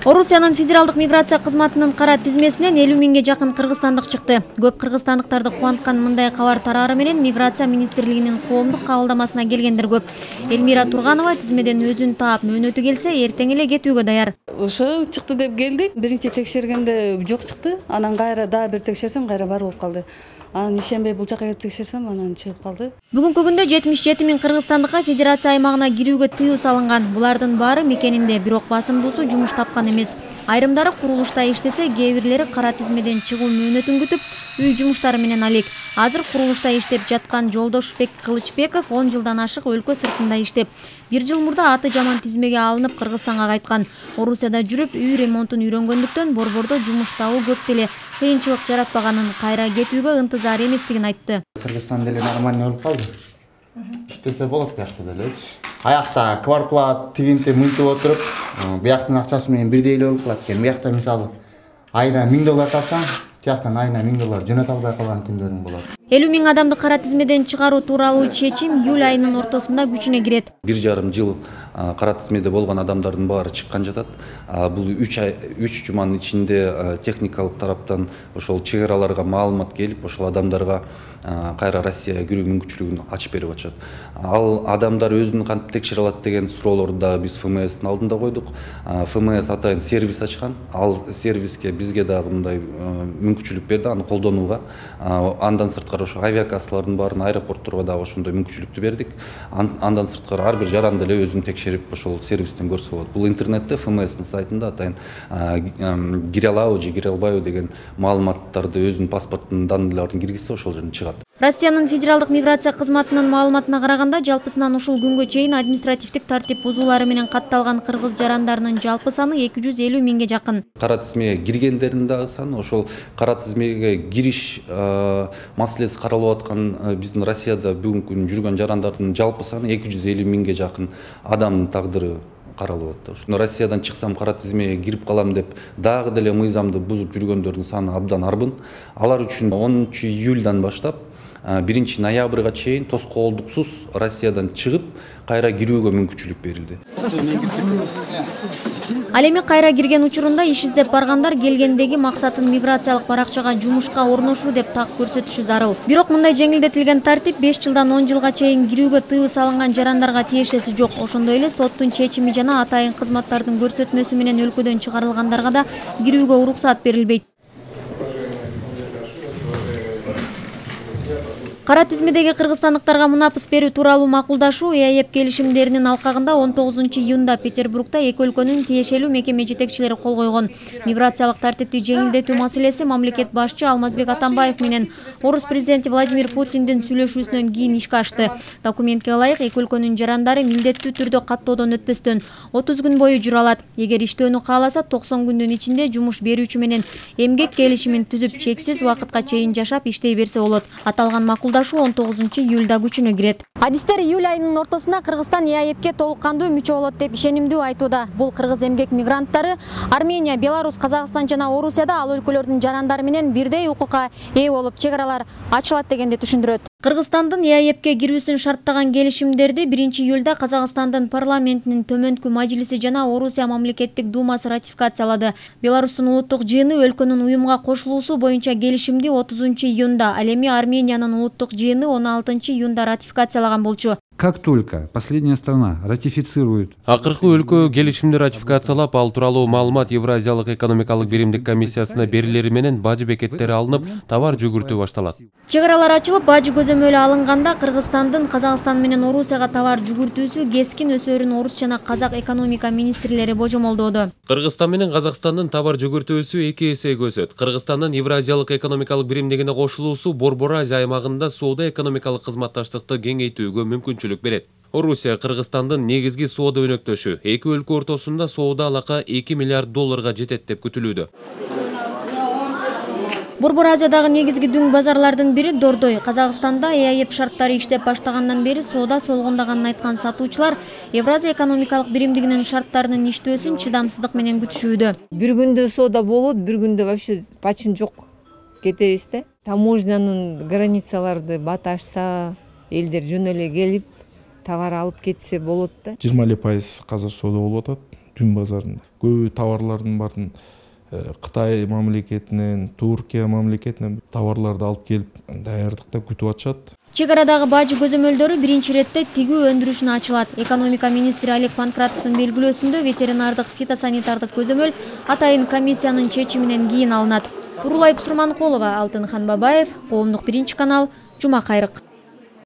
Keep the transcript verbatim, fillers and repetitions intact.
Орусиянын федералдык миграция кызматынын кара тизмесинен элүү миңге жакын кыргызстандык чыкты. Көп кыргызстандыктарды кубанткан мындай кабар тарары менен миграция министрлигинин коомдук кабылдамасына келгендер көп. Элмира Турганова тизмеден өзүн таап мөөнөтү келсе, эртең эле кетүүгө даяр. Ошо чыкты деп келдик. Биринчи текшергенде жок чыкты. Анан кайра дагы бир текшерсем, кайра бар болуп калды. Анан ишенбей бул жака келип текшерсем, анан чыгып калды. Бүгүнкү күндө жетимиш жети миң кыргызстандыкка федерация аймагына кирүүгө тыюу салынган. Булардын баары мекенинде, бирок басымдуусу жумуш тапкан эмес. Айрымдары курулушта иштесе, кээ бирлери кара тизмеден чыгуу мөөнөтүн күтүп, үй жумуштары менен алек. Азыр курулушта иштеп жаткан Жолдошбек Кылычбеков он жылдан ашык өлкө сыртында иштеп, бир жыл мурда аты жаман тизмеге алынып Кыргызстанга кайткан. Орусияда жүрүп, үй ремонтун үйрөнгөндүктөн борбордо жумуш табуу көп деле кыйынчылык жаратпаганын, кайра кетүүгө ынтызар эместигин айтты. Кыргызстан деле нормально болуп калды. Иштесе болот бияқта делечи. Аякта квартплат тигинти мынтип отуруп, бияктын акчасы менен бирдей эле болуп калат экен. Биякта мисалы айына миң доллар тапсаң, тияктан айына миң доллар жөнөтө албай калган күндөрүң болот. элүү миң адамды кара тизмеден чыгаруу тууралуу чечим июль айынын ортосунда күчүнө кирет. бир жарым жыл кара тизмеде болгон адамдардын баары чыккан жатат. Бул үч ай үч жуманын ичинде техникалык тараптан ошол чек араларга маалымат келип, ошол адамдарга кайра Россияга кирүү мүмкүнчүлүгүн ачып берип атышат. Ал адамдар өзүн кантип текшере алат деген суроолорду да биз эф эм эстин алдында койдук. эф эм эс атайын сервис ачкан. Ал сервиске бизге дагы мындай мүмкүнчүлүк берди, аны колдонууга. Андан сырткары ошо авиакассалардын баарын аэропортторго дагы ошондой мүмкүнчүлүктү бердик. Андан сырткары ар бир жаранды эле өзүн текшерип ошол сервистен көрсө болот. Бул интернетте эф эм эстин сайтында атайын кире алабы же кире албайбы деген маалыматтарды өзүнүн паспорттун данныйларын киргизсе ошол жерден чыгат. Россиянын федералдык миграция кызматынын маалыматына караганда, жалпысынан ушул күнгө чейин административдик тартип бузуулары менен катталган кыргыз жарандарынын жалпы саны эки жүз элүү миңге жакын. Кара тизмеге киргендердин дагы саны, ошол кара тизмеге кириш маселеси каралып аткан биздин Россияда бүгүнкү күнү жүргөн жарандардын жалпы саны эки жүз элүү миңге жакын адамдын тагдыры каралып атты. Россиядан чыксам кара тизмеге кирип калам деп дагы деле мыйзамды бузуп жүргөндөрдүн саны абдан арбын. Алар үчүн онунчу июльдан баштап биринчи ноябрга чейин тоскоолдуксуз Россиядан чыгып, кайра кирүүгө мүмкүнчүлүк берилди. Ал эми кайра кирген учурунда иш издеп баргандар келгендеги максатын миграциялык баракчага жумушка орношуу деп так көрсөтүшү зарыл. Бирок мындай жеңилдетилген тартип беш жылдан он жылга чейин кирүүгө тыюу салынган жарандарга тиешеси жок. Ошондой эле соттун чечими жана атайын кызматтардын көрсөтмөсү менен өлкөдөн чыгарылгандарга да кирүүгө уруксат берилбейт. Кара тизмедеги кыргызстандыктарга мунапыс берүү тууралуу макулдашуу и а е пэ келишимдеринин алкагында он тогузунчу июнда Петербургда эки өлкөнүн тиешелүү мекеме жетекчилери кол койгон. Миграциялык тартипти жеңилдетүү маселеси мамлекет башчы Алмазбек Атамбаев менен Орус президенти Владимир Путиндин сүйлөшүүсүнөн кийин ишке ашты. Документке ылайык эки өлкөнүн жарандары милдеттүү түрдө каттоодон өтпөстөн отуз күн бою жүрө алат. Эгер иштөөнү кааласа токсон күндүн ичинде жумуш берүүчү менен эмгек келишимин түзүп, чексиз убакытка чейин жашап иштей берсе болот. Аталган макулдашуу он тогузунчу июлда күчүнө кирет. Адистер июль айынын ортосунда Кыргызстан и а е пэге толук кандуу мүчө болот деп ишенимдүү айтууда. Бул кыргыз эмгек мигранттары Армения, Беларусь, Казакстан жана Орусияда ал өлкөлөрдүн жарандары менен бирдей укукка ээ болуп, чек аралар ачылат дегенди түшүндүрөт. Кыргызстандын и а е пэге кирүүсүн шарттаган келишимдерди биринчи июлда Казакстандын парламентинин төмөнкү мажлиси жана Орусия мамлекеттик думасы ратификациялады. Беларустун улуттук жыйыны өлкөнүн уюмга кошулуусу боюнча келишимди отузунчу июнда, ал эми Армениянын улуттук жыйыны он алтынчы июнда ратификациялаган болчу. Как только последняя страна ратифицирует. Акыркы өлкө келишимди ратификациялап, ал тууралуу маалымат Евразиялык экономикалык биримдик комиссиясына берилери менен бажы бекеттери алынып, товар жүгүртүү башталат. Чек аралар ачылып, бажы көзөмөлү алынганда Кыргызстандын Казакстан менен Орусияга товар жүгүртүүсү кескин өсөөрүн орус жана казак экономика министрлери божомолдоодо. Кыргызстан менен Казакстандын товар жүгүртүүсү эки эсеге өсөт. Кыргызстандын Евразиялык экономикалык биримдигине кошулуусу Борбор Азия аймагында соода экономикалык кызматташтыкты кеңейтүүгө мүмкүнчүлүк берет. Орусия Кыргызстандын негизги соода өнөктөшү. Эки өлкө ортосунда соода алака эки миллиард долларга жетет деп күтүлүүдө. Борбор Азиядагы негизги дүң базарлардын бири Дордой. Казакстанда и а е пэ шарттары иштеп баштагандан бери соода солгундаганын айткан сатуучулар Евразия экономикалык биримдигинин шарттарынын иштөөсүн чыдамсыздык менен күтүшүүдө. Бир күндө соода болот, бир күндө вообще пачин жок. Кетебиз да. Таможнянын границаларды баташса, элдер жөн эле келип товар алып кетсе болот да. жыйырма эле пайыз казыр соода болуп атат. түн базарында. Көбү товарлардын баарын Кытай мамлекетинен, Туркия мамлекетинен товарларды алып келип даярдыкта күтүп атышат. Чек арадагы бажы көзөмөлдөрү биринчи ирет тигүү өндүрүшүнө ачылат. Экономика министри Олег Панкратовдун белгилөөсүндө ветеринардык фитосанитардык көзөмөл атайын комиссиянын чечиминен кийин алынат. Урулай Пусурманкулова, Алтынхан Бабаев, Коомдук биринчи канал, Жума кайрык.